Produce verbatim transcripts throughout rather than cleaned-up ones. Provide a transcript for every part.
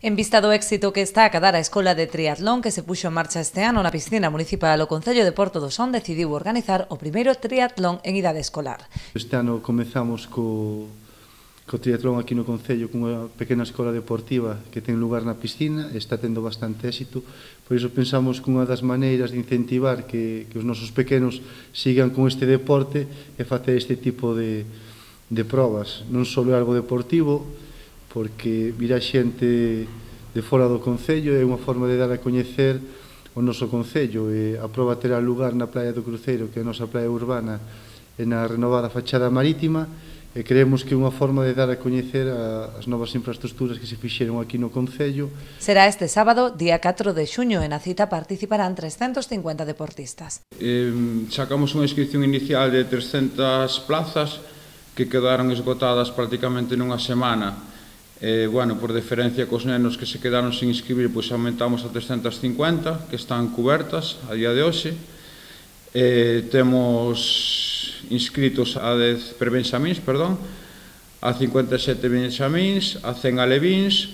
En vista do éxito que está a cadar a Escola de Triatlón que se puxo en marcha este ano na piscina municipal, o Concello de Porto do Son decidiu organizar o primeiro triatlón en idade escolar. Este ano comezamos co, co triatlón aquí no Concello cunha pequena escola deportiva que ten lugar na piscina e está tendo bastante éxito. Por iso pensamos que unha das maneiras de incentivar que, que os nosos pequenos sigan con este deporte é facer este tipo de, de probas. Non só é algo deportivo, porque vir a xente de fora do Concello é unha forma de dar a coñecer o noso Concello, e a proba terá lugar na Praia do Cruceiro, que é a nosa praia urbana, e na renovada fachada marítima, e creemos que é unha forma de dar a coñecer as novas infraestructuras que se fixeron aquí no Concello. Será este sábado, día catro de xuño, e na cita participarán trescentos cincuenta deportistas. Eh, sacamos unha inscripción inicial de trescentas plazas que quedaron esgotadas prácticamente nunha semana. Eh, bueno, por deferencia cos nenos que se quedaron sin inscribir, pois aumentamos a trescentas cincuenta, que están cubertas a día de hoxe. Eh, temos inscritos a dez prebenxamíns, perdón, a cincuenta e sete benxamíns, a cen alevíns,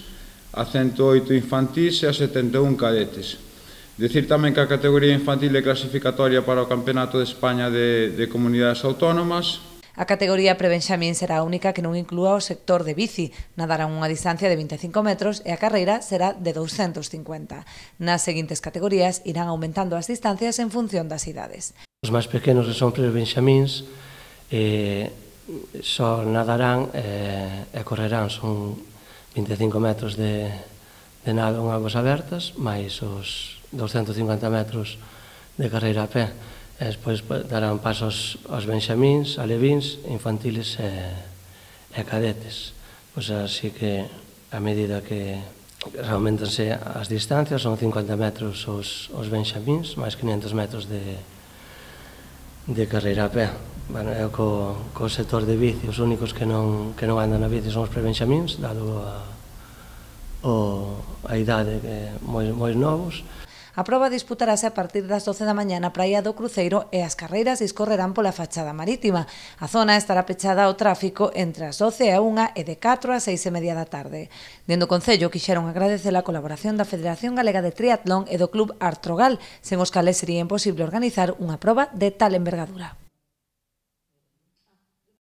a ciento oito infantís e a setenta e un cadetes. Decir tamén que a categoría infantil é clasificatoria para o Campeonato de España de, de Comunidades Autónomas. A categoría prebenxamín será a única que non inclúa o sector de bici, nadarán unha distancia de vinte e cinco metros e a carreira será de douscentos cincuenta. Nas seguintes categorías irán aumentando as distancias en función das idades. Os máis pequenos que son prebenxamíns eh, só nadarán eh, e correrán, son vinte e cinco metros de, de nado en aguas abertas, máis os douscentos cincuenta metros de carreira a pé. E despois darán paso aos, aos benxamíns, alevíns, infantiles e, e cadetes. Pois así que, a medida que aumentanse as distancias, son cincuenta metros os, os benxamíns, máis quinhentos metros de, de carreira a pé. Bueno, é co, co sector de bici, os únicos que non, que non andan na bici son os prebenxamíns, dado a, o, a idade que moi, moi novos. A proba disputarase a partir das doce da mañá na Praia do Cruceiro e as carreiras discorrerán pola fachada marítima. A zona estará pechada ao tráfico entre as doce e a unha e de catro a seis e media da tarde. Dende o Concello quixeron agradecer a colaboración da Federación Galega de Triatlón e do Club Artrogal, sen os cales sería imposible organizar unha proba de tal envergadura.